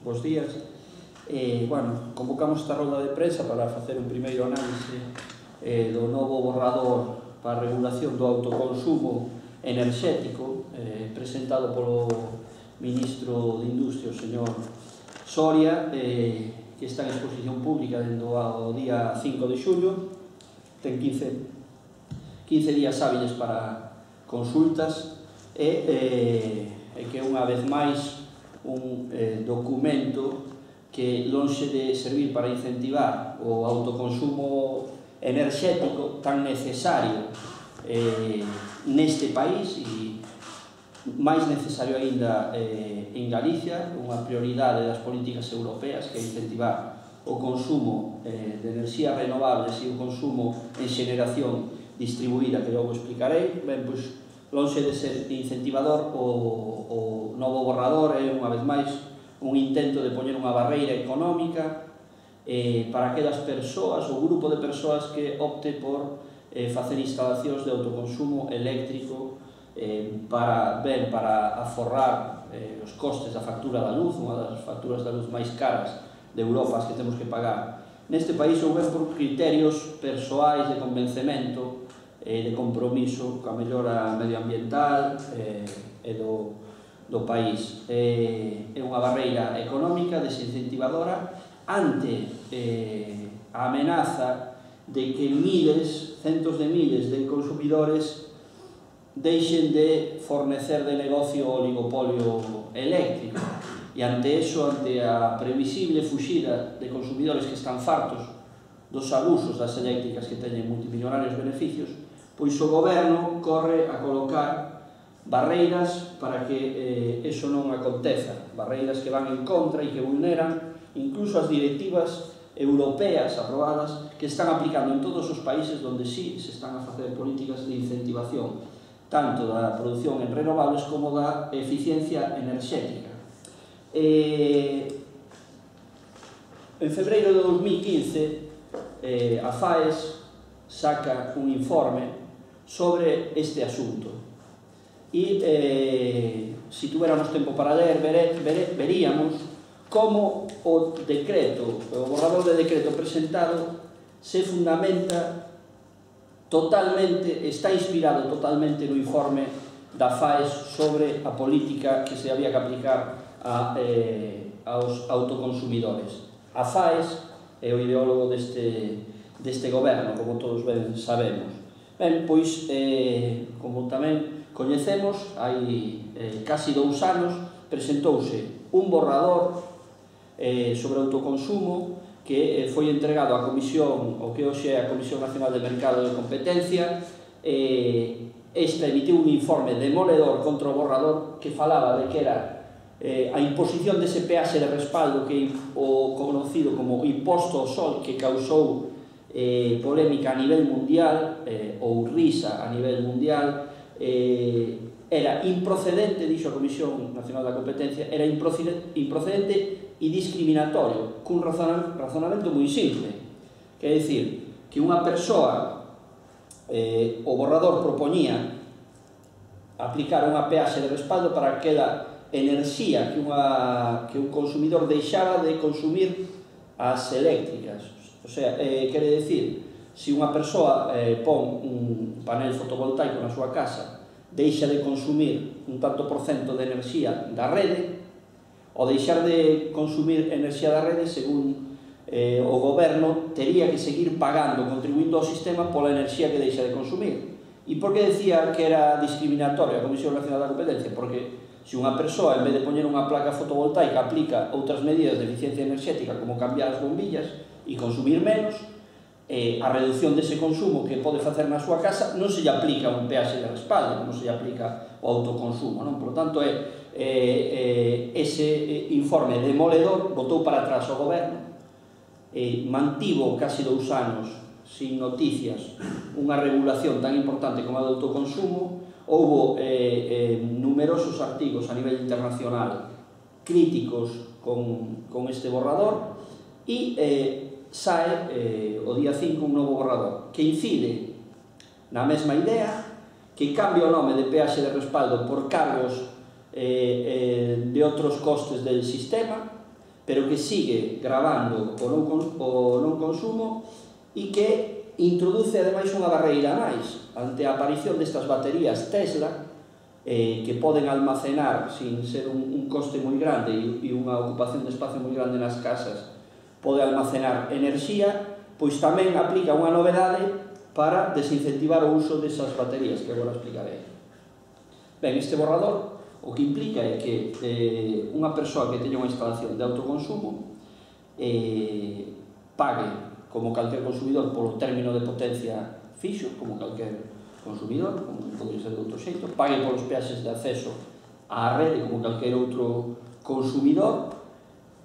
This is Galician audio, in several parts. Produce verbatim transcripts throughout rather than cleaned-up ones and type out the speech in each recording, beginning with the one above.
bons días. Eh, bueno, convocamos esta rolda de prensa para facer un primeiro análise eh, do novo borrador para a regulación do autoconsumo enerxético eh, presentado polo ministro de Industria, o señor Soria, eh, que está en exposición pública dentro ao día cinco de xullo. Ten quince, quince días hábiles para consultas e eh, eh, que unha vez máis un eh, documento que, lonxe de servir para incentivar o autoconsumo enerxético tan necesario eh, neste país e máis necesario aínda eh, en Galicia, unha prioridade das políticas europeas, que é incentivar o consumo eh, de enerxías renovables e o consumo en xeneración distribuída, que logo explicarei. Ben, pois, lonxe de ser incentivador, o, o novo borrador é, unha vez máis, un intento de poñer unha barreira económica eh, para aquelas persoas, o grupo de persoas que opte por eh, facer instalacións de autoconsumo eléctrico eh, para, ben, para aforrar eh, os costes da factura da luz, unha das facturas da luz máis caras de Europa, as que temos que pagar neste país, ou ben por criterios persoais de convencemento, de compromiso coa mellora medioambiental e do, do país. É unha barreira económica desincentivadora ante eh, a amenaza de que miles, centos de miles de consumidores deixen de fornecer de negocio o oligopolio eléctrico. E ante eso, ante a previsible fuxida de consumidores que están fartos dos abusos das eléctricas que teñen multimillonarios beneficios, pois o goberno corre a colocar barreiras para que eh, eso non aconteza, barreiras que van en contra e que vulneran incluso as directivas europeas aprobadas que están aplicando en todos os países onde sí se están a facer políticas de incentivación tanto da produción en renovables como da eficiencia enerxética. Eh, en febreiro de dos mil quince eh, a FAES saca un informe sobre este asunto e eh, se tuviéramos tempo para ler vere, vere, veríamos como o decreto, o borrador de decreto presentado se fundamenta totalmente, está inspirado totalmente no informe da FAES sobre a política que se había que aplicar a, eh, aos autoconsumidores. A FAES é o ideólogo deste, deste goberno, como todos ben sabemos. Ben, pois, eh, como tamén coñecemos, hai eh, casi dous anos presentouse un borrador eh, sobre autoconsumo que eh, foi entregado á Comisión, o que hoxe é a Comisión Nacional de Mercado de Competencia. Eh, esta emitiu un informe demoledor contra o borrador que falaba de que era eh, a imposición dese peaxe de respaldo, que o conocido como imposto ao sol, que causou Eh, polémica a nivel mundial, eh, ou risa a nivel mundial, eh, era improcedente, dixo a Comisión Nacional da Competencia, era improcedente, improcedente e discriminatorio, cun razonamento moi simple, que é dicir, que unha persoa, eh, o borrador propoñía aplicar unha peaxe de respaldo para aquela enerxía que, unha, que un consumidor deixaba de consumir as eléctricas. O sea, eh, quere decir, se unha persoa eh, pon un panel fotovoltaico na súa casa, deixa de consumir un tanto por cento de enerxía da rede, ou deixar de consumir enerxía da rede, según eh, o goberno, tería que seguir pagando, contribuindo ao sistema pola enerxía que deixa de consumir. E por que decía que era discriminatoria a Comisión Nacional da Competencia? Porque se unha persoa, en vez de poñer unha placa fotovoltaica, aplica outras medidas de eficiencia enerxética, como cambiar as bombillas e consumir menos, eh, a reducción dese consumo que pode facer na súa casa non se lle aplica un peaxe de respaldo, non se lle aplica o autoconsumo, non? Por lo tanto, é, eh, eh, ese informe demoledor botou para atrás o goberno, eh, mantivo casi dous anos sin noticias unha regulación tan importante como a do autoconsumo. Houbo eh, eh, numerosos artigos a nivel internacional críticos con, con este borrador e eh, sae eh, o día cinco un novo borrador que incide na mesma idea, que cambia o nome de peaxe de respaldo por cargos eh, eh, de outros costes del sistema, pero que sigue gravando o non, o non consumo e que introduce ademais unha barreira máis ante a aparición destas baterías Tesla eh, que poden almacenar sin ser un, un coste moi grande e, e unha ocupación de espacio moi grande nas casas, pode almacenar enerxía, pois tamén aplica unha novedade para desincentivar o uso desas baterías que agora explicarei. Ben, este borrador o que implica é que eh, unha persoa que teña unha instalación de autoconsumo eh, pague como calquer consumidor polo término de potencia fixo, como calquer consumidor, como pode ser de outro xeito, pague polos peaxes de acceso á rede como calquer outro consumidor,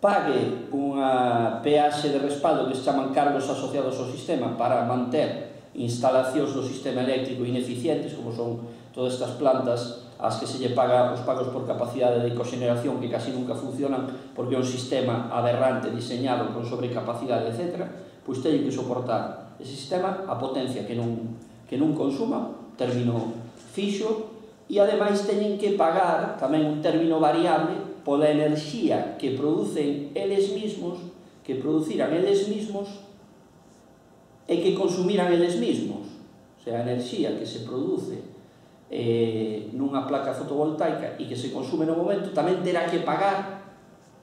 pague unha peaxe de respaldo que se chaman cargos asociados ao sistema para manter instalacións do sistema eléctrico ineficientes, como son todas estas plantas as que se lle paga os pagos por capacidade de coxeneración que casi nunca funcionan porque é un sistema aberrante diseñado con sobrecapacidade, etcétera, pois teñen que soportar ese sistema a potencia que non, que non consuma, término fixo, e ademais teñen que pagar tamén un término variable pola enerxía que producen eles mismos, que produciran eles mismos e que consumiran eles mismos. O sea, a enerxía que se produce Eh, nunha placa fotovoltaica e que se consume no momento tamén terá que pagar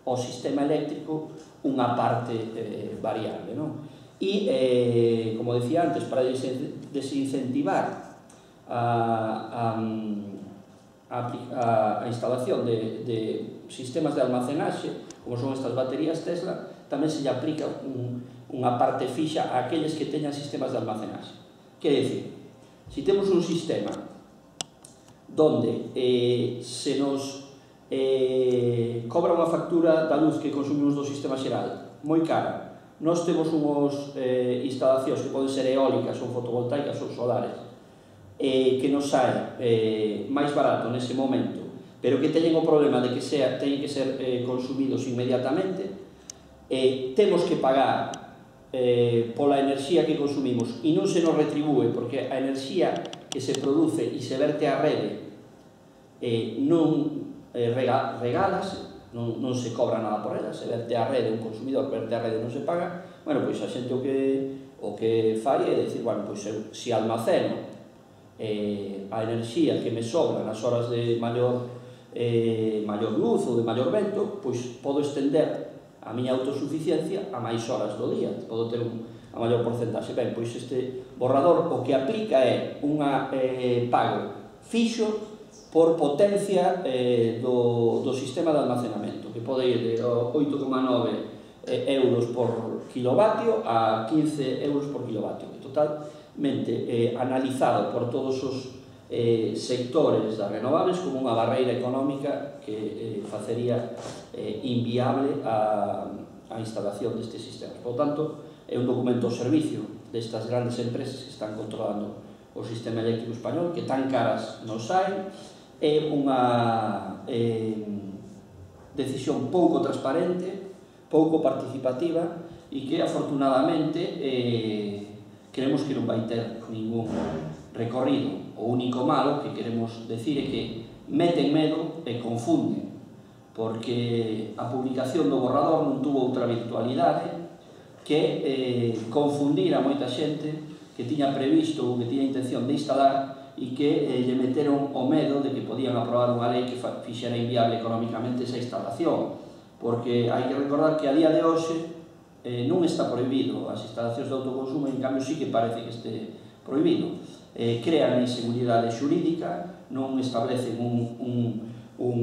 ao sistema eléctrico unha parte eh, variable, non? E, eh, como decía antes, para desincentivar a, a, a, a instalación de, de sistemas de almacenaxe, como son estas baterías Tesla, tamén se lle aplica un, unha parte fixa a aqueles que teñan sistemas de almacenaxe. Quer dizer, se temos un sistema donde eh, se nos eh, cobra unha factura da luz que consumimos do sistema xeral moi cara, nós temos unhas eh, instalacións que poden ser eólicas ou fotovoltaicas ou solares eh, que nos sae eh, máis barato nese momento, pero que teñen o problema de que sea, teñen que ser eh, consumidos inmediatamente, eh, temos que pagar eh, pola enerxía que consumimos e non se nos retribúe porque a enerxía que se produce e se verte á rede eh, non eh, rega, regalase, non, non se cobra nada por ela, se verte á rede, un consumidor verte á rede non se paga, bueno, pois a xente o que, o que fai é dicir, bueno, pois eu, se almaceno eh, a enerxía que me sobra nas horas de maior, eh, maior luz ou de maior vento, pois podo estender a miña autosuficiencia a máis horas do día, podo ter un a maior porcentaxe. Ben, pois este borrador o que aplica é unha eh, pago fixo por potencia eh, do, do sistema de almacenamento, que pode ir de oito coma nove euros por kilovatio a quince euros por kilovatio, totalmente eh, analizado por todos os eh, sectores das renovables como unha barreira económica que eh, facería eh, inviable a, a instalación destes sistemas. Por tanto, é un documento ao servicio destas grandes empresas que están controlando o sistema eléctrico español, que tan caras nos saen, é unha eh, decisión pouco transparente, pouco participativa e que afortunadamente eh, creemos que non vai ter ningún recorrido. O único malo que queremos decir é que meten medo e confunden, porque a publicación do borrador non tuvo outra virtualidade que eh, confundir a moita xente que tiña previsto ou que tiña intención de instalar e que eh, lle meteron o medo de que podían aprobar unha lei que fixera inviable económicamente esa instalación, porque hai que recordar que a día de hoxe eh, non está prohibido as instalacións de autoconsumo, e en cambio sí que parece que este prohibido. Eh, crean inseguridade xurídica, non establecen un, un, un,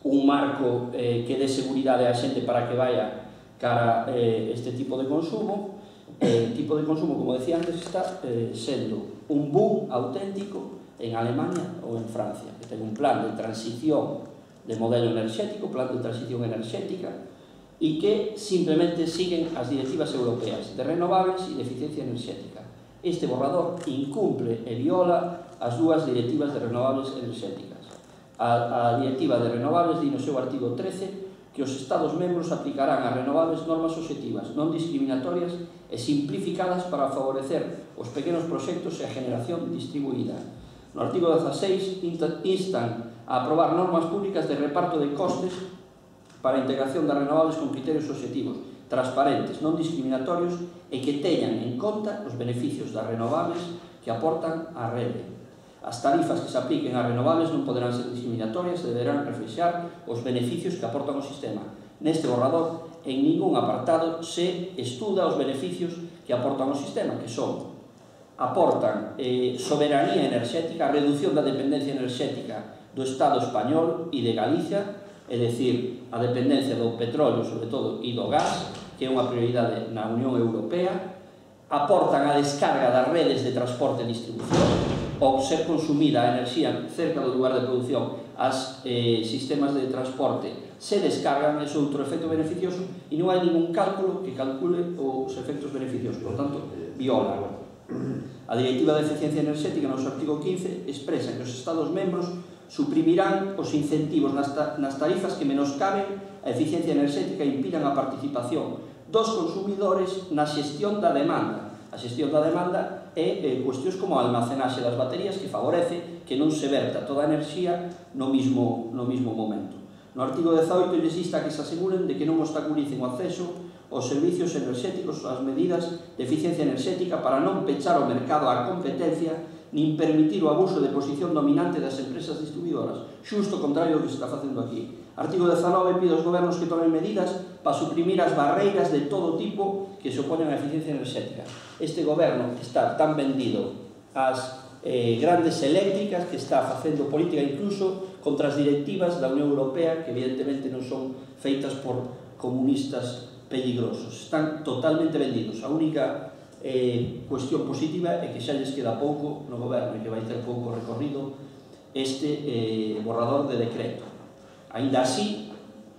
un marco eh, que dé seguridade á xente para que vaya cara eh, este tipo de consumo. El tipo de consumo, como decía antes, está eh, sendo un boom auténtico en Alemania ou en Francia, que ten un plan de transición de modelo enerxético, plan de transición enerxética, e que simplemente siguen as directivas europeas de renovables e de eficiencia enerxética. Este borrador incumple e viola as dúas directivas de renovables enerxéticas. A, a directiva de renovables di no seu artigo trece que os Estados membros aplicarán as renovables normas obxectivas, non discriminatorias e simplificadas para favorecer os pequenos proxectos e a generación distribuída. No artigo dezaseis instan a aprobar normas públicas de reparto de costes para a integración das renovables con criterios obxectivos, transparentes, non discriminatorios e que teñan en conta os beneficios das renovables que aportan á rede. As tarifas que se apliquen ás renovables non poderán ser discriminatorias e deberán reflexar os beneficios que aportan ao sistema. Neste borrador, en ningún apartado se estuda os beneficios que aportan ao sistema, que son aportan eh, soberanía enerxética, reducción da dependencia enerxética do Estado español e de Galicia, é dicir, a dependencia do petróleo, sobre todo, e do gas, que é unha prioridade na Unión Europea, aportan a descarga das redes de transporte e distribución, ao ser consumida a enerxía cerca do lugar de produción, as eh, sistemas de transporte se descargan, é outro efecto beneficioso, e non hai ningún cálculo que calcule os efectos beneficiosos, por tanto, viola. A Directiva de Eficiencia Enerxética, no seu artigo quince, expresa que os Estados membros suprimirán os incentivos nas, ta nas tarifas que menoscaben a eficiencia enerxética e impidan a participación dos consumidores na xestión da demanda. A xestión da demanda é eh, cuestións como a almacenaxe das baterías que favorece que non se verta toda a enerxía no mismo, no mismo momento. No artigo dezaoito lles insta que se aseguren de que non obstaculicen o acceso aos servicios enerxéticos, ás medidas de eficiencia enerxética para non pechar o mercado á competencia nin permitir o abuso de posición dominante das empresas distribuidoras, xusto o contrario do que se está facendo aquí. Artigo dezanove pide aos gobernos que tomen medidas para suprimir as barreiras de todo tipo que se oponen á eficiencia enerxética. Este goberno está tan vendido ás eh, grandes eléctricas que está facendo política incluso contra as directivas da Unión Europea, que evidentemente non son feitas por comunistas peligrosos. Están totalmente vendidos. A única eh, cuestión positiva é que xa lles queda pouco no goberno e que vai ter pouco recorrido este eh, borrador de decreto. Ainda así,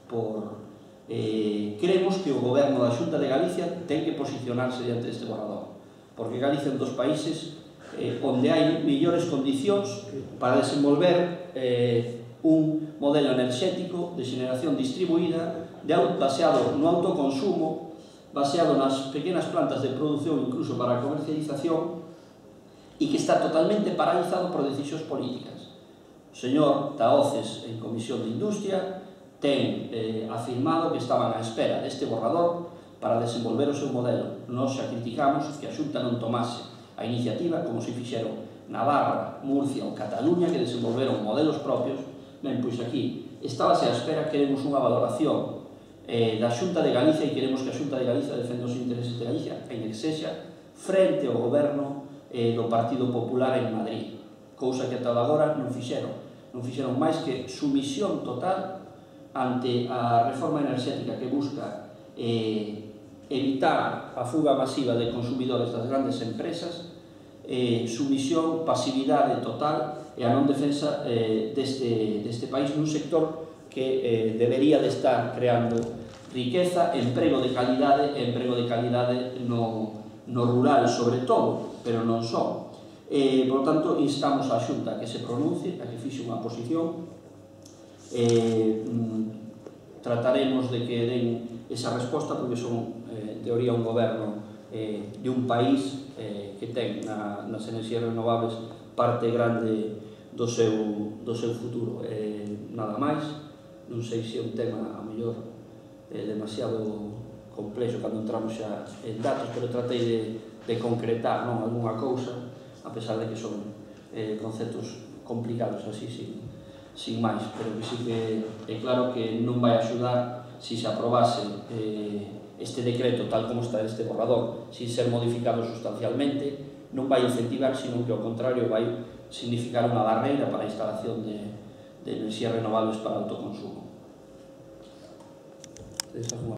por, eh, creemos que o goberno da Xunta de Galicia ten que posicionarse diante deste borrador, porque Galicia é un dos países eh, onde hai mellores condicións para desenvolver eh, un modelo enerxético de xeneración distribuída de baseado no autoconsumo, baseado nas pequenas plantas de produción, incluso para a comercialización, e que está totalmente paralizado por decisións políticas. O señor Tahoces, en Comisión de Industria, ten eh, afirmado que estaban á espera deste borrador para desenvolver o seu modelo. Nós xa criticamos que a Xunta non tomase a iniciativa, como se fixeron Navarra, Murcia ou Cataluña, que desenvolveron modelos propios. Ben, pois aquí estábase á espera, queremos unha valoración eh, da Xunta de Galicia e queremos que a Xunta de Galicia defenda os intereses de Galicia en que sexa frente ao goberno eh, do Partido Popular en Madrid, cousa que ata agora non fixeron. Non fixeron máis que sumisión total ante a reforma enerxética que busca eh, evitar a fuga masiva de consumidores das grandes empresas, eh, sumisión, pasividade total e a non defensa eh, deste, deste país nun sector que eh, debería de estar creando riqueza, emprego de calidade e emprego de calidade no, no rural sobre todo, pero non só. Eh, por tanto, instamos a Xunta que se pronuncie, a que fixe unha posición. Eh, trataremos de que den esa resposta, porque son, eh, en teoría, un goberno eh, de un país eh, que ten na, nas enerxías renovables parte grande do seu, do seu futuro. Eh, nada máis, non sei se é un tema, a mellor, eh, demasiado complexo cando entramos xa en datos, pero tratei de, de concretar non, alguna cousa, a pesar de que son eh, conceptos complicados así, sin, sin máis, pero que sí que é claro que non vai axudar si se aprobase eh, este decreto tal como está este borrador, sin ser modificado sustancialmente, non vai incentivar, sino que ao contrario vai significar unha barreira para a instalación de, de enerxías renovables para autoconsumo.